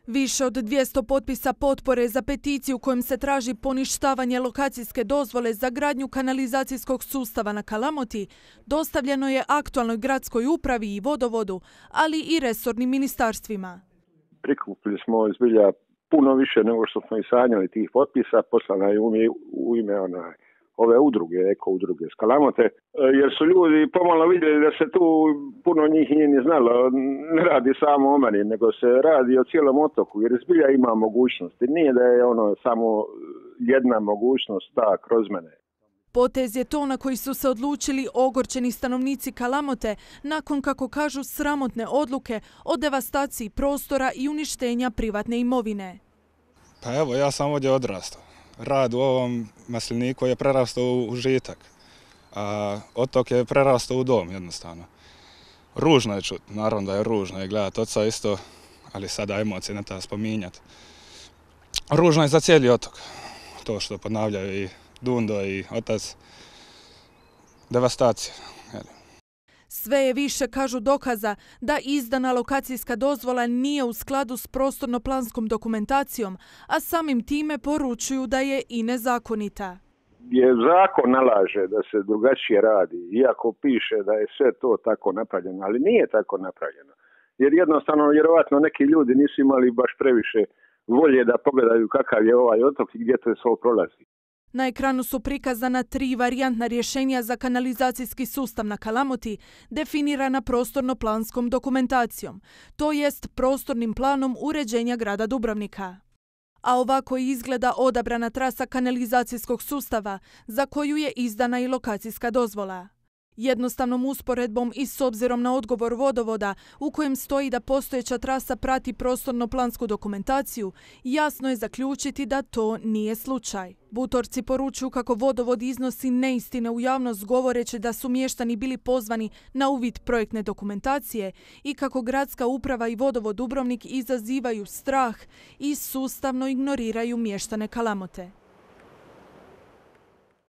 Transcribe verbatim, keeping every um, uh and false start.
Više od dvjesto potpisa potpore za peticiju kojom se traži poništavanje lokacijske dozvole za gradnju kanalizacijskog sustava na Kalamoti dostavljeno je aktualnoj gradskoj upravi i vodovodu, ali i resornim ministarstvima. Prikupili smo zbilja puno više nego što smo i sanjali tih potpisa, poslana je u ime onaj, ove udruge, eko udruge s Kalamote, jer su ljudi pomalo vidjeli da se tu puno njih nije ni znalo, ne radi samo o meni, nego se radi o cijelom otoku, jer zbilja ima mogućnosti. Nije da je ono samo jedna mogućnost ta kroz mene. Potez je to na koji su se odlučili ogorčeni stanovnici Kalamote nakon, kako kažu, sramotne odluke o devastaciji prostora i uništenja privatne imovine. Pa evo, ja sam ovdje odrastao. Rad u ovom masliniku je prerastao u užitak, a otok je prerastao u dom jednostavno. Ružno je čuti, naravno da je ružno je gledati oca isto, ali sada emocije ne treba spominjati. Ružno je za cijeli otok, to što ponavljaju i Dundo i otac, devastacija. Sve je više, kažu, dokaza da izdana lokacijska dozvola nije u skladu s prostorno-planskom dokumentacijom, a samim time poručuju da je i nezakonita. Je zakon nalaže da se drugačije radi, iako piše da je sve to tako napravljeno, ali nije tako napravljeno. Jer jednostavno, vjerovatno, neki ljudi nisu imali baš previše volje da pogledaju kakav je ovaj otok i gdje to sve prolazi. Na ekranu su prikazana tri varijantna rješenja za kanalizacijski sustav na Kalamoti, definirana prostorno-planskom dokumentacijom, to jest prostornim planom uređenja grada Dubrovnika. A ovako izgleda odabrana trasa kanalizacijskog sustava, za koju je izdana i lokacijska dozvola. Jednostavnom usporedbom i s obzirom na odgovor vodovoda, u kojem stoji da postojeća trasa prati prostorno-plansku dokumentaciju, jasno je zaključiti da to nije slučaj. Butorci poručuju kako vodovod iznosi neistine u javnost govoreći da su mještani bili pozvani na uvid projektne dokumentacije i kako gradska uprava i vodovod Dubrovnik izazivaju strah i sustavno ignoriraju mještane Kalamote.